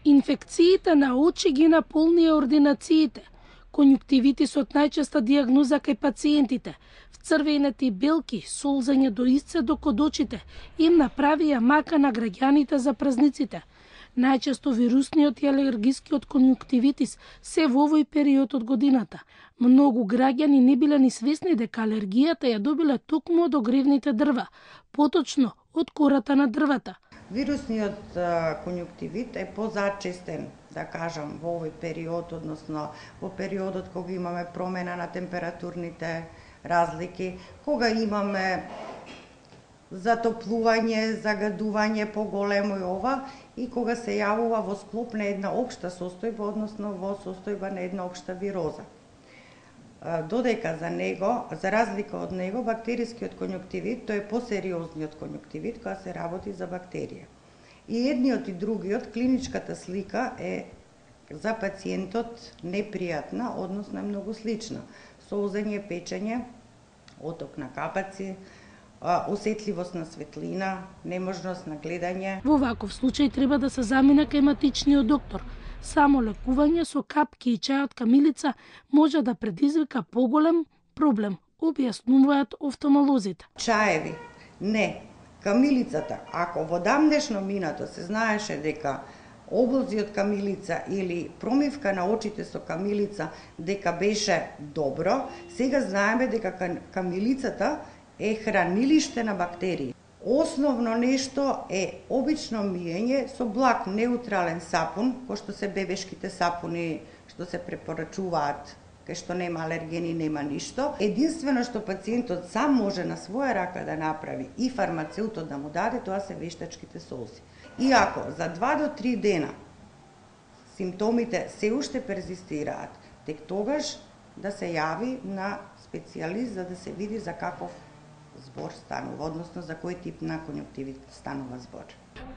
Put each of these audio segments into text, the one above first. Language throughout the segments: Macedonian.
Инфекциите на очи ги наполнија ординациите. Конјуктивитисот најчеста дијагноза кај пациентите. Црвените белки, солзење до исцедок од очите, им направија мака на граѓаните за празниците. Најчесто вирусниот и алергискиот конјуктивитис се во овој период од годината. Многу граѓани не биле ни свесни дека алергијата ја добиле токму од огревните дрва, поточно од кората на дрвата. Вирусниот конјуктивит е позачестен, да кажам, во овој период, односно во периодот кога имаме промена на температурните разлики, кога имаме затоплување, загадување поголемо и ова, и кога се јавува во склоп на една општа состојба, односно во состојба на една општа вироза. Додека за разлика од него, бактерискиот конјуктивит, тој е посериозниот конјуктивит, која се работи за бактерија. И едниот и другиот, клиничката слика е за пациентот непријатна, односно е многу слична. Солзење, печење, оток на капаци, осетливост на светлина, неможност на гледање. Во ваков случај треба да се замине кај матичниот доктор. Само лекување со капки и чај од камилица може да предизвика поголем проблем, објаснуваат офталмолозите. Чаеви, не. Камилицата, ако во дамнешно минато се знаеше дека облози од камилица или промивка на очите со камилица дека беше добро, сега знаеме дека камилицата е хранилиште на бактерии. Основно нешто е обично миење со благ неутрален сапун, кој што се бебешките сапуни што се препорачуваат, кај што нема алергени, нема ништо. Единствено што пациентот сам може на своја рака да направи и фармацеутот да му даде, тоа се вештачките солзи. И ако за 2 до 3 дена симптомите се уште перзистираат, тек тогаш да се јави на специјалист за да се види за каков збор станува, односно за кој тип на конјуктивит станува збор.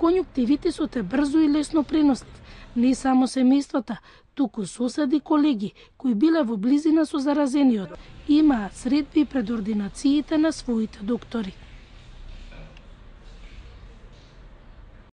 Конјуктивитисот е брзо и лесно пренослив. Не само семејствата, туку соседи, колеги кои биле во близина со заразениот, имаат средби пред ординациите на своите доктори.